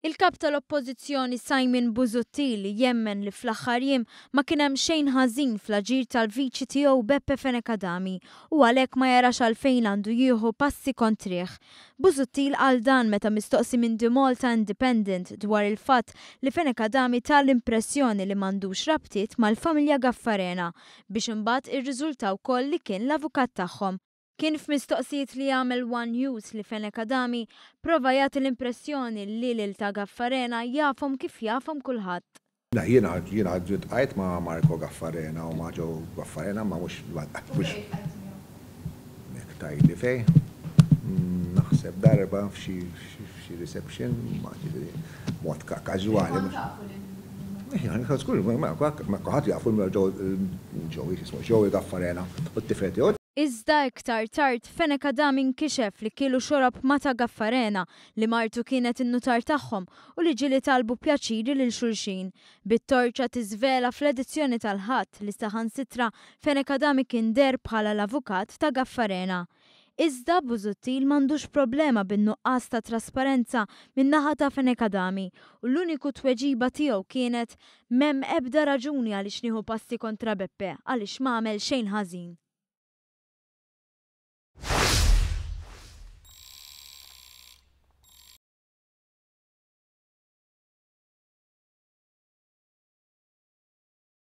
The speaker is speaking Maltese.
Il-Kap tal-Oppożizzjoni Simon Busuttil jemmen li fl-aħħar jiem ma kien hemm xejn ħażin fl-aġir tal-Viċi tiegħu Beppe Fenech Adami u għalhekk ma jarax għalfejn għandu jieħu passi kontrih. Busuttil qal dan meta mistoqsi minn The Malta Independent dwar il-fatt li Fenech Adami ta l-impressjoni li m'għandux rabtiet mal-familja Gaffarena biex imbagħad irriżulta wkoll li kien l-avukat tagħhom. Kien f'mistoqsijiet li għamel one News li Fenech Adami prova jagħti l-impressjoni li lil ta' Gaffarena jafhom kif jafhom kulħadd. Le, jiena jiena ltqajt ma' Marco Gaffarena u ma' Joe Gaffarena ma mhux mhux Jekk tgħidli fejn, naħseb darba f'xi f'xi reception, ma ġifieri mod każwali mhux. Żgur, ma kulħadd jafu lil Joe Joe x'ismu Joey Gaffarena u t-tifel tiegħu. Iżda iktar tard, Fenech Adami nkixef li kielu xorob ma' ta' Gaffarena, li martu kienet in-nutar tagħhom u li ġieli talbu pjaċiri lil xulxin. Bit-torċa tiżvela fl-edizzjoni tal-Ħadd li saħansitra Fenech Adami kien deher bħala l-avukat ta' Gaffarena. Iżda Busuttil m'għandux problema bin-nuqqas ta' trasparenza min-naħa ta' Fenech Adami u l-uniku tweġiba tiegħu kienet, M'hemm ebda raġuni għaliex nieħu passi kontra Beppe għaliex m'għamel xejn ħażin.